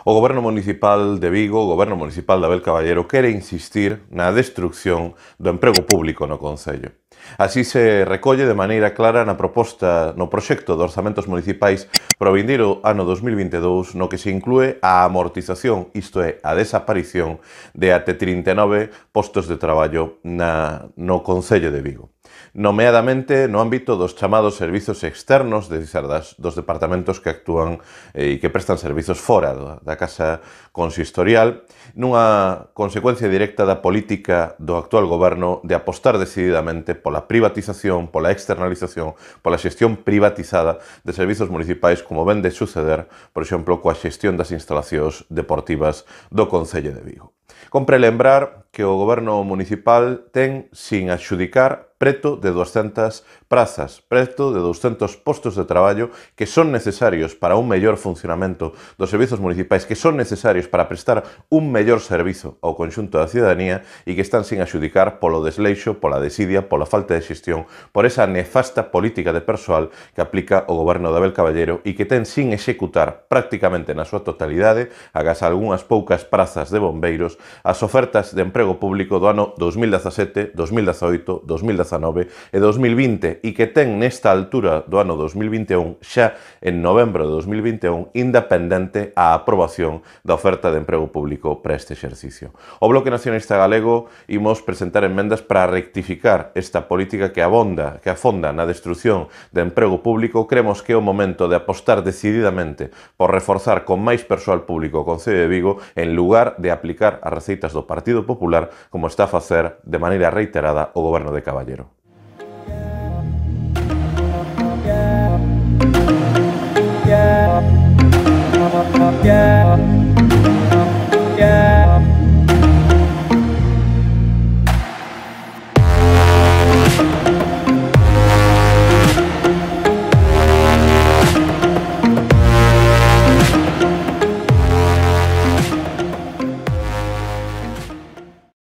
O Goberno Municipal de Vigo, o Goberno Municipal de Abel Caballero, quere insistir na destrucción do emprego público no Concello. Así se recolle de maneira clara no proxecto de orzamentos municipais para o vindeiro ano 2022, no que se inclúe a amortización, isto é, a desaparición de até 39 postos de traballo no Concello de Vigo. Nomeadamente no ámbito dos chamados servizos externos, dos departamentos que actúan e que prestan servizos fora da Casa Consistorial, nunha consecuencia directa da política do actual goberno de apostar decididamente pola privatización, pola externalización, pola xestión privatizada de servizos municipais, como ven de suceder, por exemplo, coa xestión das instalacións deportivas do Concello de Vigo. Compre lembrar que o goberno municipal ten, sin adxudicar, preto de 200 prazas, preto de 200 postos de traballo que son necesarios para un mellor funcionamento dos servizos municipais, que son necesarios para prestar un mellor servizo ao conxunto da cidadanía e que están sin adxudicar polo desleixo, pola desidia, pola falta de xestión, por esa nefasta política de persoal que aplica o goberno de Abel Caballero e que ten sin executar prácticamente na súa totalidade, agás algunhas poucas prazas de bombeiros, as ofertas de emprego público do ano 2017, 2018, 2019 e 2020 e que ten nesta altura do ano 2021, xa en novembro de 2021, independente a aprobación da oferta de emprego público para este exercicio. O Bloque Nacionalista Galego imos presentar emendas para rectificar esta política que afonda na destrucción de emprego público. Creemos que é o momento de apostar decididamente por reforzar con máis persoal público o Concello de Vigo en lugar de aplicar as receitas do Partido Popular como está a facer de maneira reiterada o goberno de Caballero.